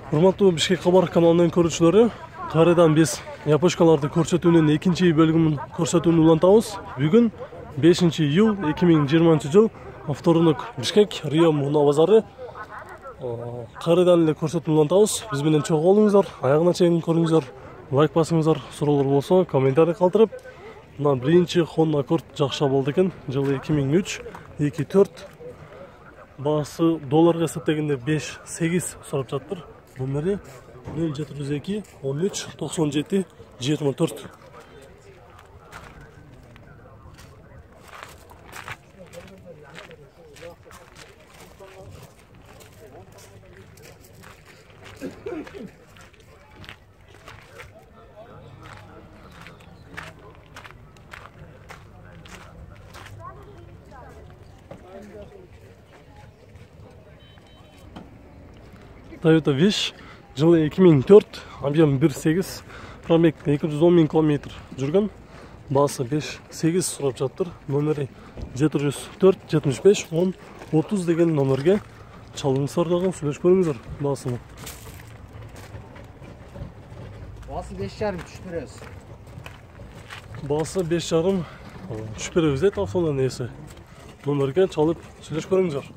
Урматтуу Бишкек кабар каналынын көрүүчүлөрү, кайрадан биз япошкаларды көрсөтүүнүн экинчи бөлүгүн көрсөтүүнү улантабыз. Бүгүн 5 iyul 2020 жыл вторник Бишкек Рио муна базары. Кайрадан эле көрсөтүүнү улантабыз. Биз менен чогуу болуңуздар, аягына чейин көрүңүздөр, лайк басыңыздар, суроолор болсо комментарий калтырып. Мына биринчи Honda Accord жакшы болду экен. Жылы 2003, 2.4. Баасы долларга эсептегенде 5-8 сурап жатыр. Номери 0702 13 97 24. Toyota Wish жылы 2004, объем 1.8, пробег 210 000 км жүргөн. Баасы 5-8 сурап жатыр. Номери 704 75 10 30 деген номерге чалыңыздар дагы сүйлөшүп көрүңүздөр баасыны. Баасы 5,5 түшүп беребиз. Баасы 5,5 түшүп беребиз дейт автонун ээси. Номерге чалып сүйлөшүп көрүңүздөр.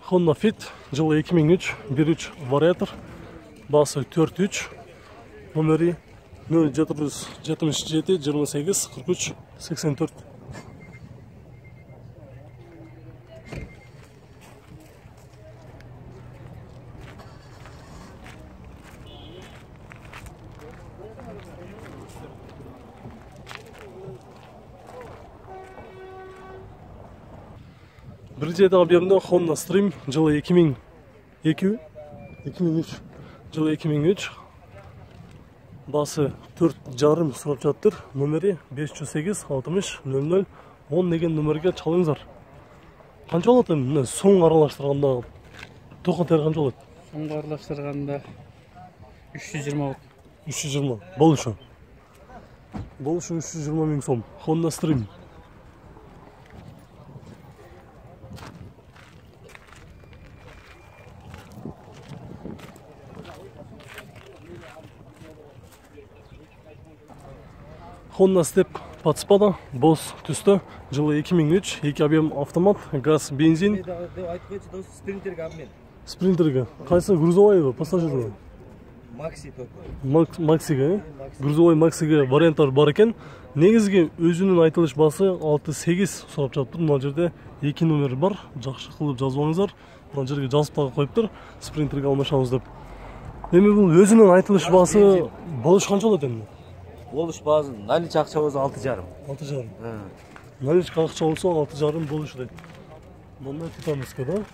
Honda Fit жылы 2003, 1.3 вариатор, баасы 4.3, номери 0777 28 43 84. Биринчи объемде Honda Stream жылы 2003, жылы 2003, баасы 4,5 сурап жатыр. Номери 508 60 00 10 деген номерге чалыңыздар. Канча болот эми соң аралаштырганда? Токо тер канча болот? Соңго аралаштырганда 320 болот. 320 болушу. 320 000 сом. Honda Stream. Honda Step подспада, Boss түстө, жылы 2003, 2 объем автомат, газ, бензин. Спринтерге обмен. Спринтерге. Кайсы грузовойбы, пассажирбы? Макси только. Максиге, грузовой Максиге варианттар бар экен. Негизги өзүнүн айтылыш баасы 6-8 сурап жатыр. Мына жерде 2 номер бар. Жакшы кылып жазып алыңыздар. Мына жерге жазып дагы коюптур. Спринтерге алмашабыз деп. Эми бул өзүнүн айтылыш баасы болуш канча болот эми? Болуш баасы налич акча болсо 6,5. 6,5. Налич акча болсо 6,5 болуш дейт. Мындай титанский да.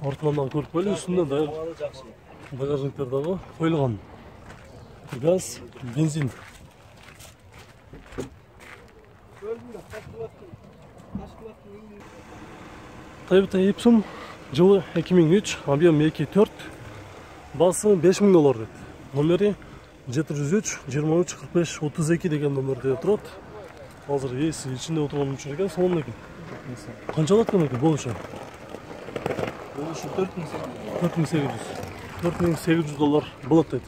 Артынан да көрүп коелу, үстүндө да багажниктер дагы коюлган. Газ, бензин. Toyota Epson жылы 2003, объем 2.4, баасы $5,000 дейт. Номери 703 23 45 32 деген номерде турат. Азыр ээси ичинде отурган үчүн экен, сонун экен. Канча алат экен болушу? Болушу 4,800. $4,800 болот дейт.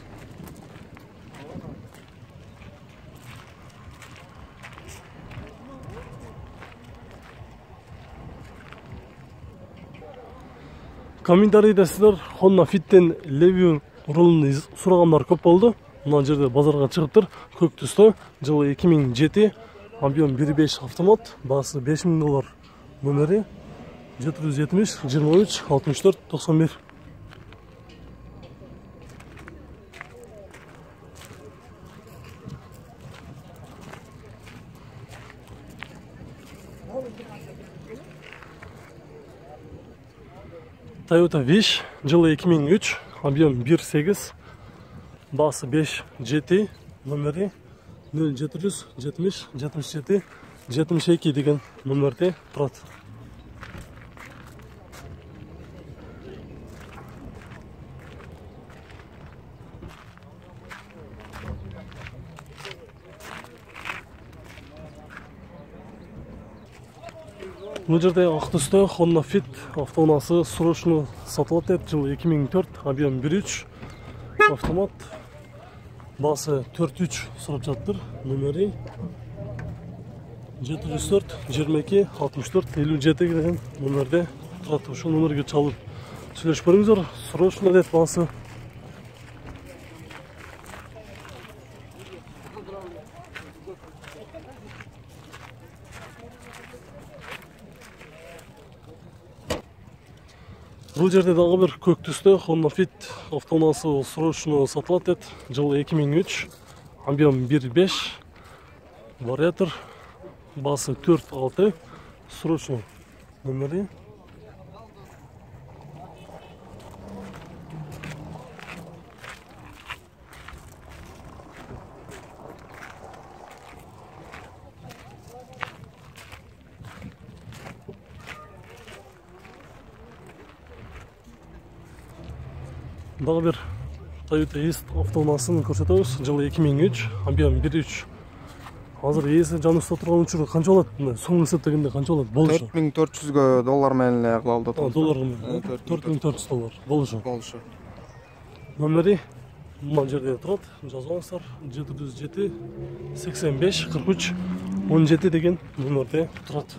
Комментарийде сиздер Honda Fit'ten Levy рулун сурагандар көп болду. Мына жерде базарга чыгыптыр. Көк түстө, жылы 2007, объем 1.5 автомат, баасы $5,000. Номери 770 23 64 91. Toyota Wish жылы 2003, объем 1.8, баасы 5.7, номери 0770 77 72 деген номерде турат. Бул жерде ак түстө Honda Fit автоунаасы срочно сатылат деп, жыл 2004, объем 1.3 автомат. Басы 4.3 сурап жатыр. Номери 704 22 64 57 деген номерде турат. Ошол номерге чалып сүйлөшүп көрүңүздөр. Срочно деп басы. Бул жерде дагы бир көк түстө Honda Fit автоунаасы срочно сатылат деп, жыл 2003, объем 1.5, вариатор, басы 4.6, срочно номери. Дагы бир Toyota East автоунаасын көрсөтөбүз. Жыл 2003, объем 1.3. Азыр ээси жаныбызда турган учурда канча болот? Соң эсептегенде канча болот? Болушу. $4400 менен эле кылалды. Доллар менен. $4400 болушу. Болушу. Номери мына жерде турат. Жазыңыздар. 707 85 43 17 деген номерде турат.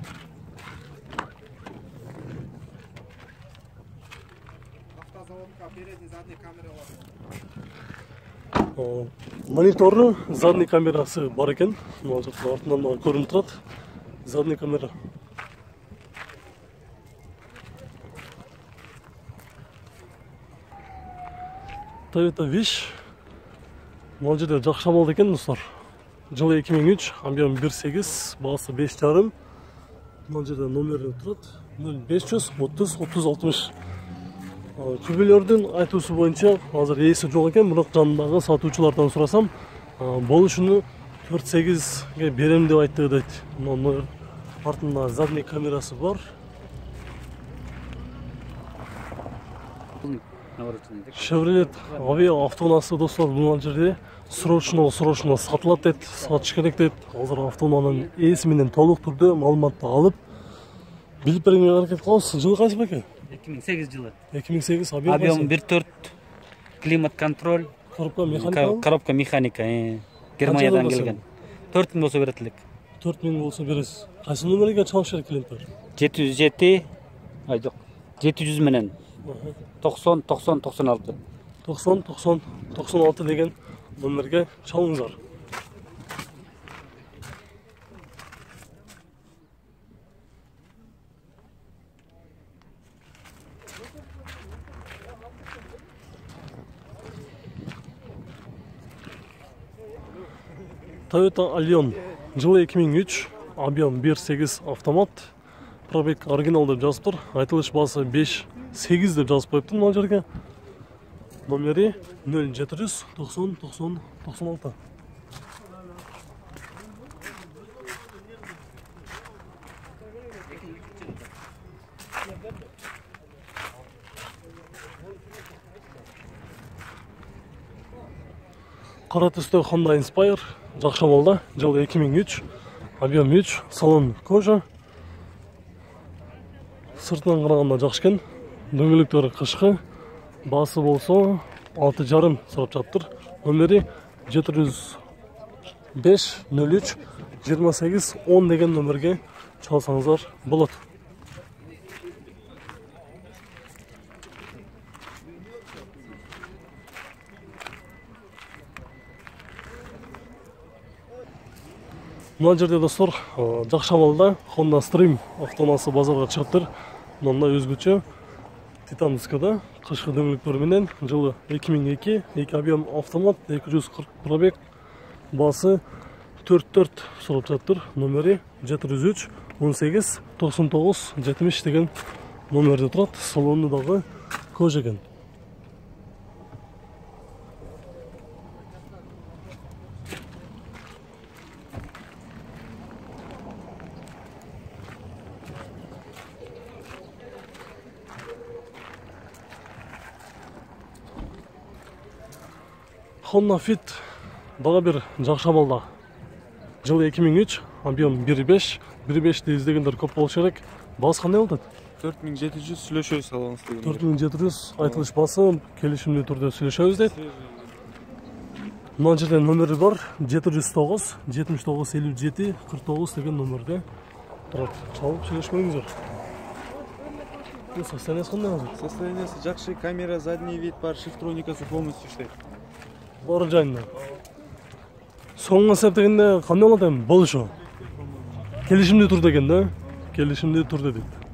Монитору, задний камерасы бар экен. Мына жерде артынан көрүнүп турат. Задний камера. Toyota Wish. Мына жерде жакшы абалда экен, достор. Жыл 2003, объем 1.8, басы 5.5. Мына жерде номери турат. 0530 30 30 60. Күбөлөрдүн айтуусу боюнча азыр ээси жок экен, бирок жанындагы сатуучулардан сурасам, болушуну 4.8ге берем деп айтты дейт. Мына артында задний камерасы бар. Chevrolet Aveo автоунаасы достор, бул жерде срочно сатылат дейт, сатыш керек дейт. Азыр автоунаанын ээси менен толук түрдө маалыматты алып билип бергенге аракет кылабыз. Жылы кайсы беке? 2008 жылы. 2008 Объем 1.4, климат-контроль, коробка механика. Германиядан келген. 4000 болсо берет элек. 4000 болсо бересиз. Кайсы номерге чалыш керек клиенттер? 707, жок, 700 менен 90 90 96. 90 90 96 деген номерге чалыңыздар. Toyota Allion, жылы 2003, объем 1.8 автомат. Пробег оригинал деп жазыптыр. Айтылыш басы 5.8 деп жазып коюптун мына жерге. Номери 0700 90 90 96. Кара түстө Honda Inspire, жакшы абалда, жыл 2003, объем 3, салон кожа. Сыртынан караганда жакшы экен. Дөңгөлөктөрү кышкы, басы болсо 6.5 сурап жатыр. Номери 705 03 28 10 деген номерге чалсаңыздар болот. Мына жерде достор, жакшы абалда Honda Stream автоунаасы базарга чыгыптыр. Мындай өзгөчө титандскада кышкы дөңгөлөктөр менен, жылы 2002, 2 объем автомат, 240 пробег, басы 44 сурап жатыр. Номери 703 18 99 70 деген номерде турат. Салону дагы кожа экен. Honda Fit дагы бир жакшы абалда. Жылы 2003, объем 1.5. 1.5'te издегендер көп болуш керек. Баасы кандай болот? 4700 сүйлөшөбүз алыңыз деген. 4700 айтылыш басым, келишимдүү түрдө сүйлөшөбүз дейт. Мына жерде номери бар. 709 79 57 49 деген номерде турат. Чалып сүйлөшмөңүздөр. Состояниясы кандай азыр? Состояниясы жакшы, камера, задний вид бар, шифтроникасы полностью иштейт. Баары жайында. Соңуна эсептегенде кандай болот эми? Болушу. Келишимдүү түрдө экен да? Келишимдүү түрдө дейт.